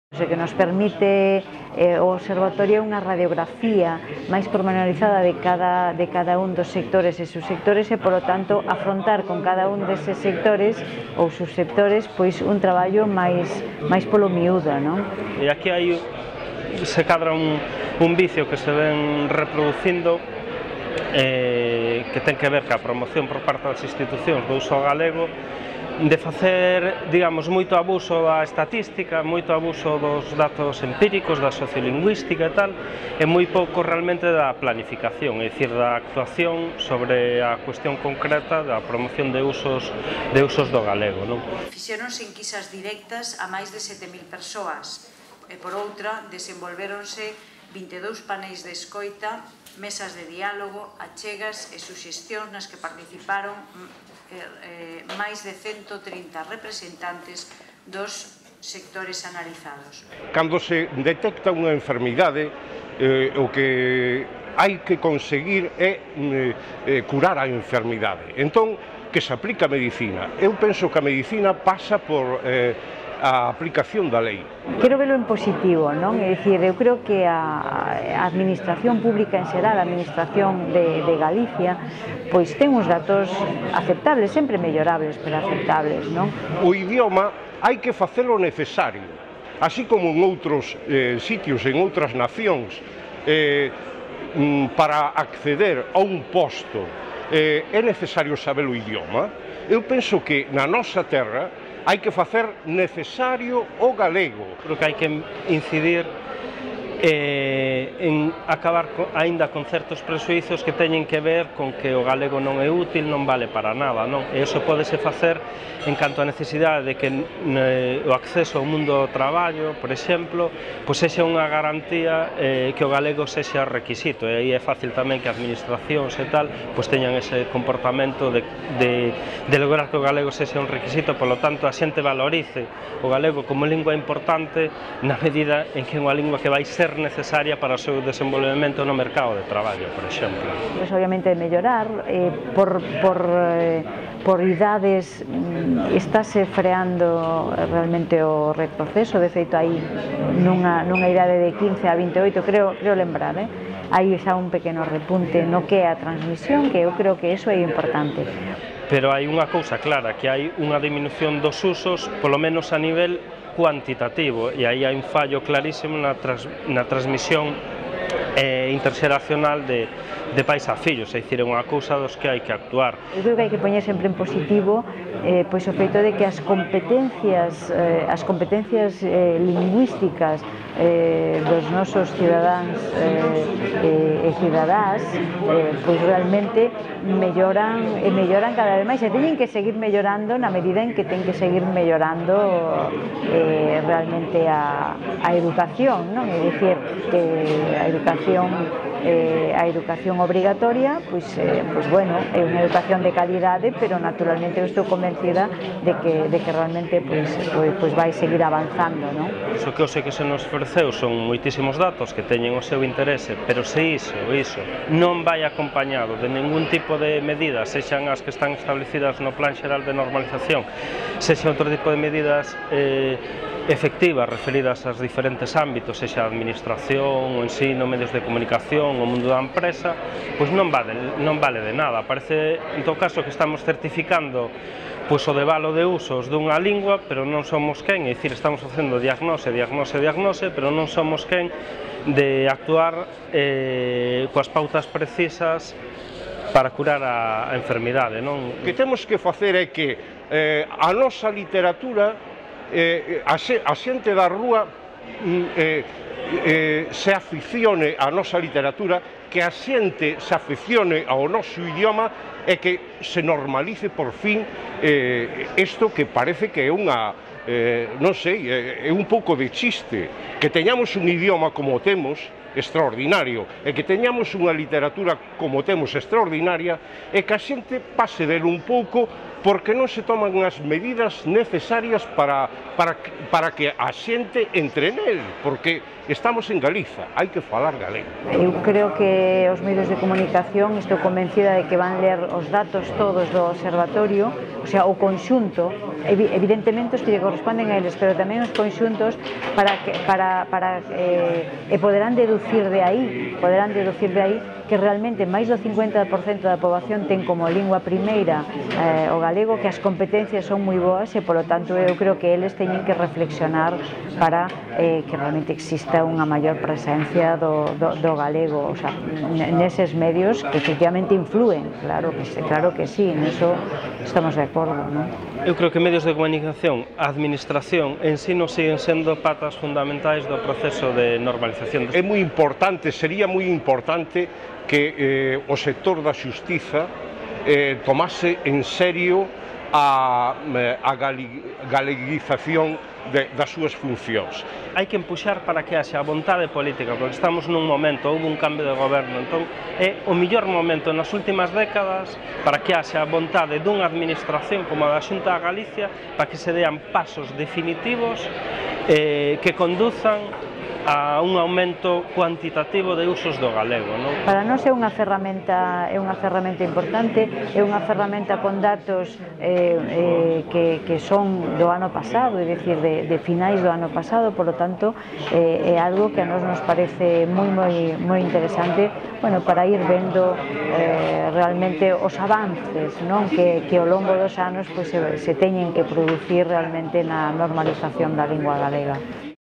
O que nos permite o observatorio unha radiografía máis pormenorizada de cada un dos sectores e subsectores e, polo tanto, afrontar con cada un deses sectores ou subsectores pois un traballo máis polo miúdo, non? E aquí se cadra un vicio que se ven reproducindo que ten que ver ca promoción por parte das institucións do uso galego, de facer, digamos, moito abuso da estatística, moito abuso dos datos empíricos, da sociolingüística e tal, e moi pouco realmente da planificación, é dicir, da actuación sobre a cuestión concreta da promoción de usos do galego, non? Fixéronse enquisas directas a máis de 7.000 persoas e, por outra, desenvolvéronse 22 paneis de escoita, mesas de diálogo, achegas e suxestións nas que participaron máis de 130 representantes dos sectores analizados. Cando se detecta unha enfermidade, o que hai que conseguir é curar a enfermidade. Entón, que se aplica a medicina. Eu penso que a medicina pasa por a aplicación da lei. Quero velo en positivo, non? É dicir, eu creo que a administración pública en xeral, a administración de Galicia, pois ten uns datos aceptables, sempre mellorables, pero aceptables, non? O idioma hai que facelo necesario, así como en outros sitios, en outras nacións, para acceder a un posto é necesario saber o idioma. Eu penso que na nosa terra hai que facer necesario o galego. Creo que hai que incidir en acabar aínda con certos prexuízos que teñen que ver con que o galego non é útil, non vale para nada, non? E iso pódese facer en canto a necesidade de que o acceso ao mundo do traballo, por exemplo, pois sexa unha garantía que o galego sexa requisito, e aí é fácil tamén que administracións e tal pois teñan ese comportamento de lograr que o galego sexa un requisito, polo tanto a xente valorice o galego como lingua importante na medida en que é unha lingua que vai ser necesaria para o seu desenvolvemento no mercado de traballo, por exemplo. Pois obviamente mellorar, por idades estáse freando realmente o retroceso, de feito aí nunha idade de 15 a 28, creo lembrar, hai xa un pequeno repunte no que é a transmisión, que eu creo que iso é importante. Pero hai unha cousa clara, que hai unha disminución dos usos, polo menos a nivel cuantitativo, e aí hai un fallo clarísimo na transmisión interxeracional de pais a fillos, é dicir, é unha cousa dos que hai que actuar. Eu creo que hai que poñer sempre en positivo pois o feito de que as competencias lingüísticas dos nosos cidadáns e cidadás pois realmente melloran cada vez máis e teñen que seguir mellorando na medida en que ten que seguir mellorando realmente a educación, non? É dicir, que a educación obrigatoria, pois bueno, é unha educación de calidade, pero naturalmente eu estou convencida de que realmente pois vai seguir avanzando, non? Iso que eu sei que se nos ofreceu son moitísimos datos que teñen o seu interese, pero se iso non vai acompañado de ningún tipo de medidas, sexan as que están establecidas no Plan Xeral de Normalización, sexan outro tipo de medidas efectivas referidas aos diferentes ámbitos, sexa a administración, o ensino, medios de comunicación, o mundo da empresa, pois non vale de nada. Parece, en todo caso, que estamos certificando pois o debalo de usos dunha lingua, pero non somos quen, é dicir, estamos facendo diagnose, pero non somos quen de actuar coas pautas precisas para curar a enfermidade, non? O que temos que facer é que a nosa literatura, a xente da rúa se aficione á nosa literatura, que a xente se aficione ao noso idioma e que se normalice por fin isto que parece que é unha, non sei, é un pouco de chiste, que teñamos un idioma como temos, extraordinario, e que teñamos unha literatura como temos extraordinaria, e que a xente pase dele un pouco porque non se toman as medidas necesarias para que a xente entre nel, porque estamos en Galiza, hai que falar galego. Eu creo que os medios de comunicación, estou convencida de que van ler os datos todos do observatorio, o sea, o conxunto, evidentemente os que lle corresponden a eles, pero tamén os conxuntos e poderán deducir de aí que realmente máis do 50% da poboación ten como lingua primeira o galego, que as competencias son moi boas e, polo tanto, eu creo que eles teñen que reflexionar para que realmente exista unha maior presencia do galego, o sea, neses medios que efectivamente influen, claro que sí, niso estamos de acordo, non? Eu creo que medios de comunicación, a administración en si non siguen sendo patas fundamentais do proceso de normalización. É moi importante, sería moi importante que o sector da xustiza tomase en serio a galeguización das súas funcións. Hai que empuxar para que haxa vontade política, porque estamos nun momento, houve un cambio de goberno, entón é o mellor momento nas últimas décadas para que haxa vontade dunha administración como a da Xunta de Galicia para que se dean pasos definitivos que conduzan a un aumento cuantitativo de usos do galego, non? Para nós é unha ferramenta importante, é unha ferramenta con datos que son do ano pasado, é dicir, de finais do ano pasado, polo tanto, é algo que a nós nos parece moi interesante, bueno, para ir vendo realmente os avances, non? Que ao longo dos anos se teñen que producir realmente na normalización da lingua galega.